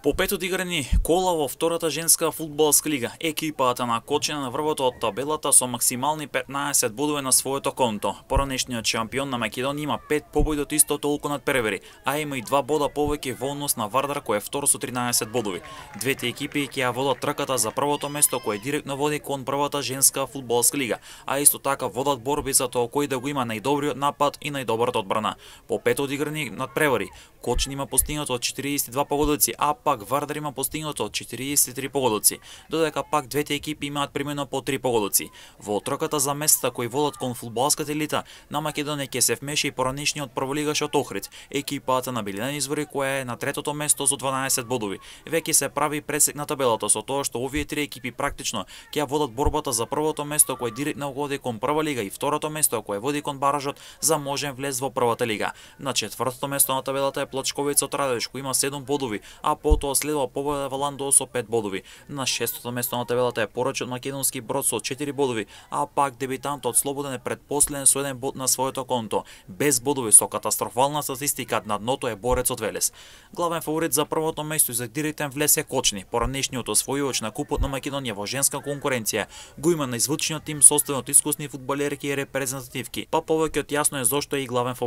По пет одиграни кола во втората женска фудбалска лига, екипата на Кочина на врвот од табелата со максимални 15 бодови на своето конто. Поранешниот шампион на Македонија има 5 победи од исто толку надпревари, а има и 2 бода повеќе во однос на Вардар кој е втор со 13 бодови. Двете екипи ќе ја водат трката за првото место кое директно води кон првата женска фудбалска лига, а исто така водат борби за тоа кој да го има најдобриот напад и најдобрата одбрана. По пет одиграни надпревари, Кочин има постигнато 42 погодоци, а пак Вардар има постигнато 43 погодоци, додека пак двете екипи имаат примено по 3 погодоци. Во трката за местата кои водат кон фудбалската елита на Македонија ќе се вмеша и поранешниот прволигаш од Охрид, екипата на Билина Извори која е на третото место со 12 бодови. Веќе се прави пресек на табелата со тоа што овие три екипи практично ќе ја водат борбата за првото место кое директно води кон прва лига и второто место кое води кон баражот за можен влез во првата лига. На четвртото место на табелата е Плачковица од Радовиш кој има 7 бодови, а потоа следува победа во Ландо со 5 бодови. На шестото место на табелата е Порачот Македонски Брод со 4 бодови, а пак дебитантот Слободен е предпоследен со 1 бод на своето конто. Без бодови со катастрофална статистика на дното е Борецот Велес. Главен фаворит за првото место и за директен влез е Кочни. Поранешниот освојувач на Купот на Македонија во женска конкуренција го има најзвучниот тим составен од искусни фудбалерки и репрезентативки, па повеќе од јасно е зошто е и главен фаворит.